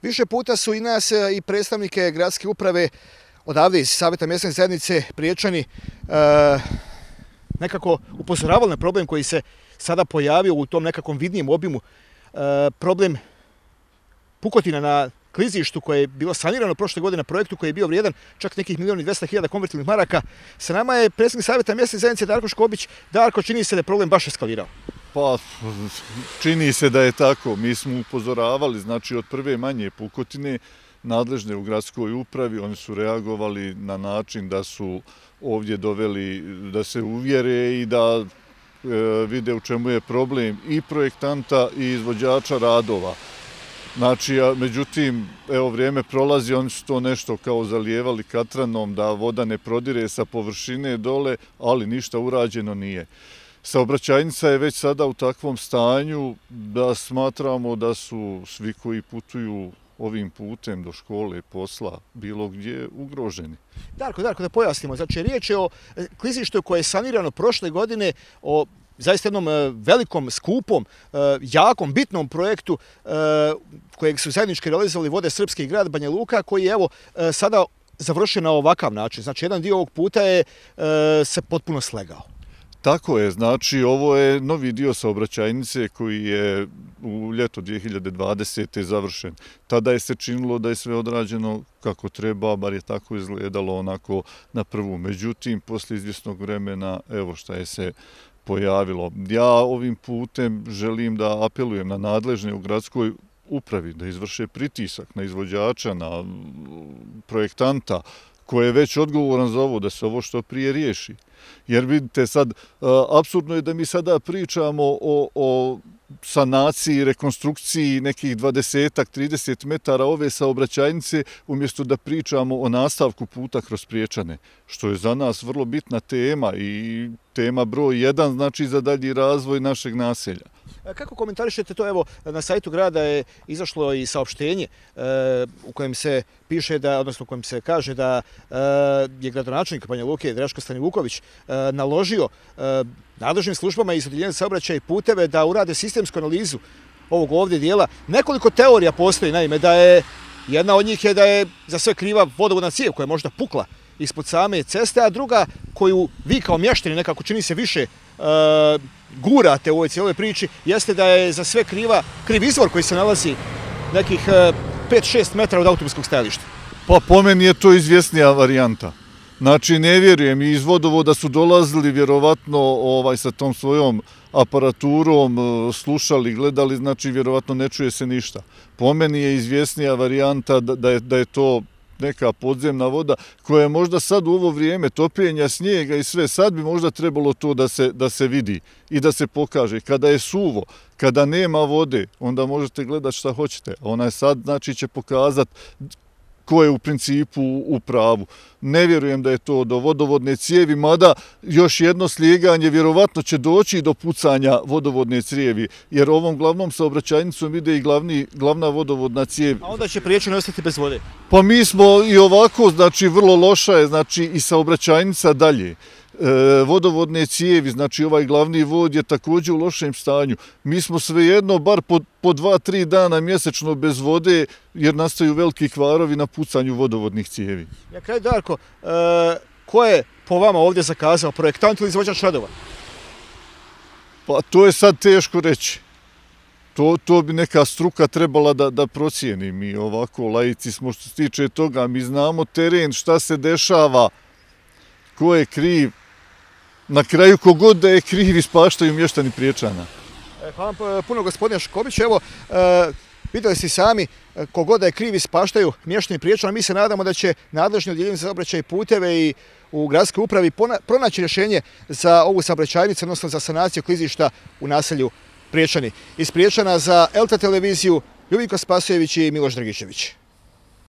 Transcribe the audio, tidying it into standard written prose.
Više puta su i nas i predstavnike gradske uprave odavde iz Savjeta mjesne zajednice Priječani nekako upozoravali na problem koji se sada pojavio u tom nekakvom vidnijem obimu. Problem pukotina na klizištu koje je bilo sanirano prošle godine na projektu koji je bio vrijedan čak nekih 1.200.000 konvertibilnih maraka. Sa nama je predsjednik Savjeta mjesne zajednice Darko Škobić. Darko, čini se da je problem baš eskalirao. Pa, čini se da je tako. Mi smo upozoravali, znači od prve manje pukotine nadležne u gradskoj upravi, oni su reagovali na način da su ovdje doveli da se uvjere i da vide u čemu je problem i projektanta i izvođača radova. Znači, međutim, evo vrijeme prolazi, oni su to nešto kao zalijevali katranom da voda ne prodire sa površine dole, ali ništa urađeno nije. Saobraćajnica je već sada u takvom stanju da smatramo da su svi koji putuju ovim putem do škole, posla, bilo gdje ugroženi. Darko, da pojasnimo. Znači, riječ je o klizištu koje je sanirano prošle godine, o zaista jednom velikom, skupom, jakom, bitnom projektu kojeg su zajednički realizovali Vode Srpske i grad Banja Luka, koji je evo sada završen na ovakav način. Znači, jedan dio ovog puta je se potpuno slegao. Tako je, znači ovo je novi dio saobraćajnice koji je u ljeto 2020. završen. Tada je se činilo da je sve odrađeno kako treba, bar je tako izgledalo onako na prvu. Međutim, poslije izvjesnog vremena, evo šta je se pojavilo. Ja ovim putem želim da apelujem na nadležne u gradskoj upravi da izvrše pritisak na izvođača, na projektanta, koji je već odgovoran za ovo, da se ovo što prije riješi. Jer vidite sad, apsurdno je da mi sada pričamo o sanaciji, rekonstrukciji nekih 20-30 metara ove saobraćajnice, umjesto da pričamo o nastavku puta kroz Priječane, što je za nas vrlo bitna tema i tema broj 1, znači za dalji razvoj našeg naselja. Kako komentarišete to? Evo, na sajtu grada je izašlo i saopštenje u kojem se piše da, odnosno u kojem se kaže da je gradonačelnik Banja Luke Draško Stanivuković naložio nadležnim službama iz Odjeljenja za saobraćaj i puteve da urade sistemsku analizu ovog ovdje dijela. Nekoliko teorija postoji, naime, da je jedna od njih je da je za sve kriva vodovodna cijev koja je možda pukla ispod same ceste, a druga koju vi kao mještani nekako čini se više gurate u ovoj cijeloj priči, jeste da je za sve kriv izvor koji se nalazi nekih 5-6 metara od autobuskog stajališta. Pa po meni je to izvjesnija varijanta. Znači, ne vjerujem, iz vodovoda su dolazili vjerovatno sa tom svojom aparaturom, slušali, gledali, znači vjerovatno ne čuje se ništa. Po meni je izvjesnija varijanta da je to neka podzemna voda koja je možda sad u ovo vrijeme topljenja snijega i sve, sad bi možda trebalo to da se vidi i da se pokaže. Kada je suvo, kada nema vode, onda možete gledati šta hoćete. Ona je sad, znači, će pokazati ko je u principu u pravu. Ne vjerujem da je to do vodovodne cijevi, mada još jedno slijeganje vjerovatno će doći do pucanja vodovodne cijevi, jer ovom glavnom saobraćajnicom ide i glavna vodovodna cijev. A onda će Priječani ostati bez vode? Pa mi smo i ovako, znači vrlo loša je, znači i saobraćajnica dalje. Vodovodne cijevi, znači ovaj glavni vod je također u lošem stanju. Mi smo svejedno bar po 2-3 dana mjesečno bez vode jer nastaju veliki kvarovi na pucanju vodovodnih cijevi. Na kraju, Darko, ko je po vama ovdje zakazao, projektant ili izvođač radova? Pa to je sad teško reći. To bi neka struka trebala da procijeni. Mi ovako laici smo što se tiče toga. Mi znamo teren, šta se dešava, ko je kriv. Na kraju kogod da je kriv ispaštaju mještani Priječana. Hvala vam puno, gospodine Škobić. Evo, vidjeli ste sami, kogod da je kriv ispaštaju mještani Priječana. Mi se nadamo da će nadležni Odjeljenje za saobraćaj i puteve i u gradskoj upravi pronaći rješenje za ovu saobraćajnicu, odnosno za sanaciju klizišta u naselju Priječani. Iz Priječana za LT televiziju Ljubinko Spasojević i Miloš Dragičević.